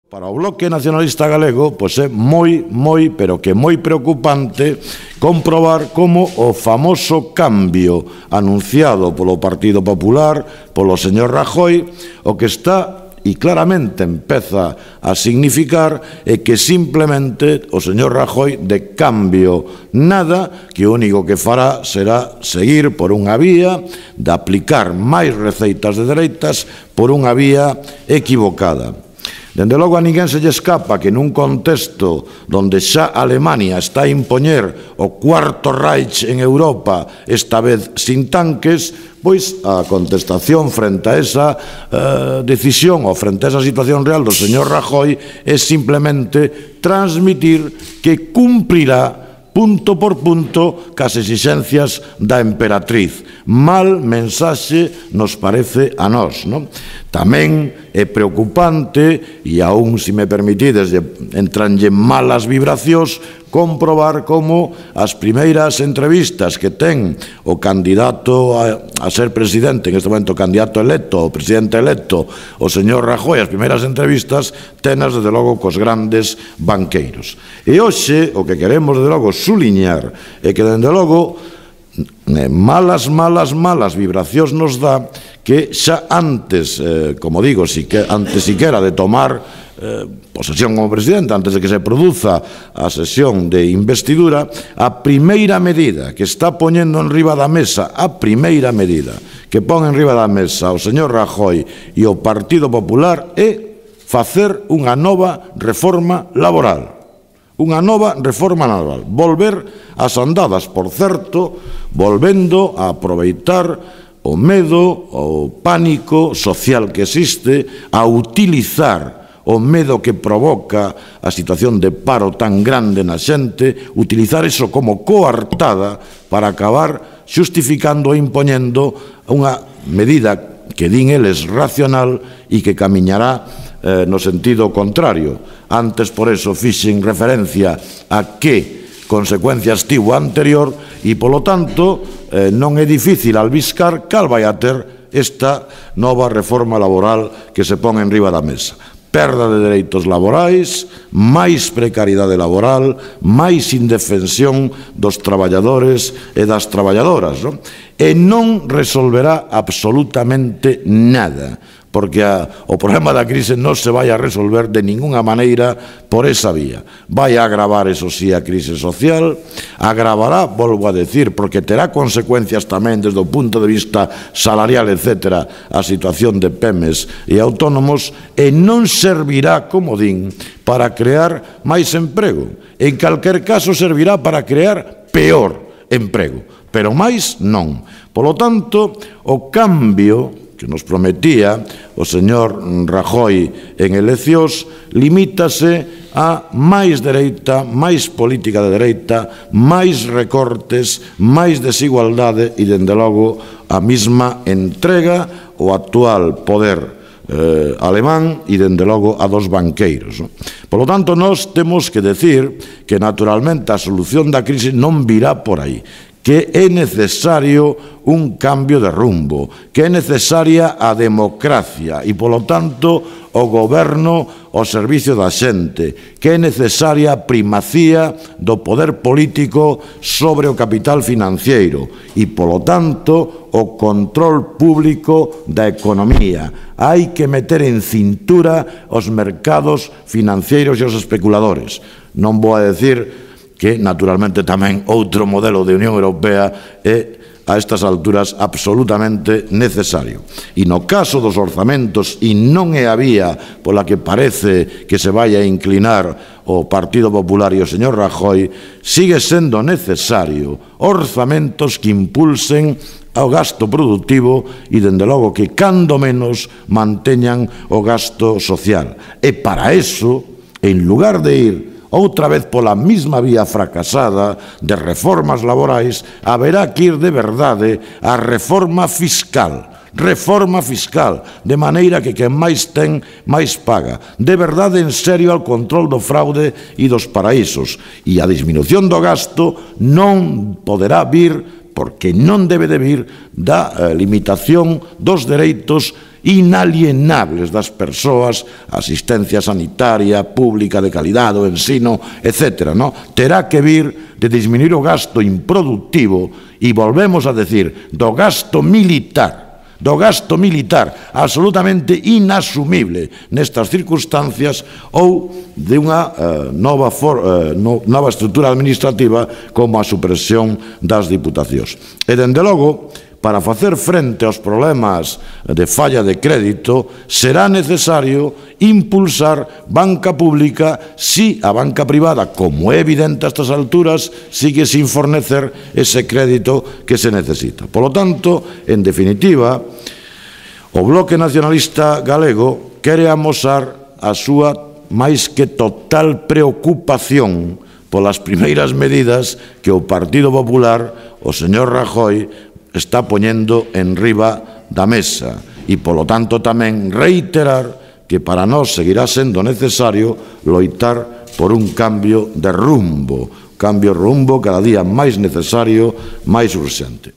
Para o Bloque Nacionalista Galego, pois é moi, pero que moi preocupante comprobar como o famoso cambio anunciado polo Partido Popular, polo señor Rajoy, o que está e claramente empeza a significar é que simplemente o señor Rajoy de cambio nada, que o único que fará será seguir por unha vía de aplicar máis receitas de dereitas por unha vía equivocada. Dende logo a ninguén se lle escapa que nun contexto onde xa Alemania está a impoñer o cuarto Reich en Europa, esta vez sin tanques, pois a contestación frente a esa decisión ou frente a esa situación real do señor Rajoy é simplemente transmitir que cumprirá punto por punto cas exixencias da emperatriz. Mal mensaxe nos parece a nós, non? Tamén é preocupante, e aún, se me permitides, entranlle malas vibracións, comprobar como as primeiras entrevistas que ten o candidato a ser presidente, en este momento candidato electo, o presidente electo, o señor Rajoy, as primeiras entrevistas tenas, desde logo, cos grandes banqueiros. E hoxe, o que queremos, desde logo, suliñar é que, desde logo, malas vibracións nos dá que xa antes, como digo, antes siquera de tomar posesión como presidente, antes de que se produza a sesión de investidura, a primeira medida que está poñendo en riba da mesa, a primeira medida que pon en riba da mesa o señor Rajoy e o Partido Popular é facer unha nova reforma laboral. Unha nova reforma laboral. Volver ás andadas, por certo, volvendo a aproveitar o medo, o pánico social que existe, a utilizar o medo que provoca a situación de paro tan grande na xente, utilizar iso como coartada para acabar xustificando e impoñendo unha medida que din eles racional e que camiñará no sentido contrario. Antes, por eso, fixen referencia a que consecuencias tivo anterior e, polo tanto, non é difícil albiscar cal vai a ter esta nova reforma laboral que se pon en riba da mesa. Perda de dereitos laborais, máis precariedade laboral, máis indefensión dos traballadores e das traballadoras, non? E non resolverá absolutamente nada, porque o problema da crise non se vai a resolver de ninguna maneira por esa vía. Vai a agravar, eso sí, a crise social, agravará, volvo a decir, porque terá consecuencias tamén desde o punto de vista salarial, etcétera, a situación de PEMES e autónomos, e non servirá, como din, para crear máis emprego. En calquer caso, servirá para crear peor emprego, pero máis non. Polo tanto, o cambio que nos prometía o señor Rajoy en eleccións limítase a máis dereita, máis política de dereita, máis recortes, máis desigualdade e, dende logo, a mesma entrega ao actual poder alemán e, dende logo, a dos banqueiros. Por lo tanto, nós temos que decir que, naturalmente, a solución da crise non virá por aí, que é necesario un cambio de rumbo, que é necesaria a democracia e, polo tanto, o goberno ao servicio da xente, que é necesaria a primacía do poder político sobre o capital financiero e, polo tanto, o control público da economía. Hai que meter en cintura os mercados financeiros e os especuladores. Non vou a decir que, naturalmente, tamén outro modelo de Unión Europea é, a estas alturas, absolutamente necesario. E no caso dos orzamentos, e non é a vía pola que parece que se vai a inclinar o Partido Popular e o señor Rajoy, sigue sendo necesario orzamentos que impulsen ao gasto productivo e, dende logo, que, cando menos, manteñan o gasto social. E para eso, en lugar de ir outra vez pola mesma vía fracasada de reformas laborais, haberá que ir de verdade á reforma fiscal, de maneira que quen máis ten, máis paga, de verdade, en serio, ao control do fraude e dos paraísos. E a disminución do gasto non poderá vir, porque non debe de vir, da limitación dos dereitos inalienables das persoas, asistencia sanitaria, pública de calidade, o ensino, etc. Terá que vir de disminuir o gasto improductivo e volvemos a decir, do gasto militar, absolutamente inasumible nestas circunstancias, ou de unha nova estrutura administrativa como a supresión das diputacións. E, dende logo, para facer frente aos problemas de falla de crédito, será necesario impulsar banca pública si a banca privada, como é evidente a estas alturas, sigue sin fornecer ese crédito que se necesita. Polo tanto, en definitiva, o Bloque Nacionalista Galego quere amosar a súa máis que total preocupación polas primeiras medidas que o Partido Popular, o señor Rajoy, está poñendo en riba da mesa e, polo tanto, tamén reiterar que para nós seguirá sendo necesario loitar por un cambio de rumbo cada día máis necesario, máis urxente.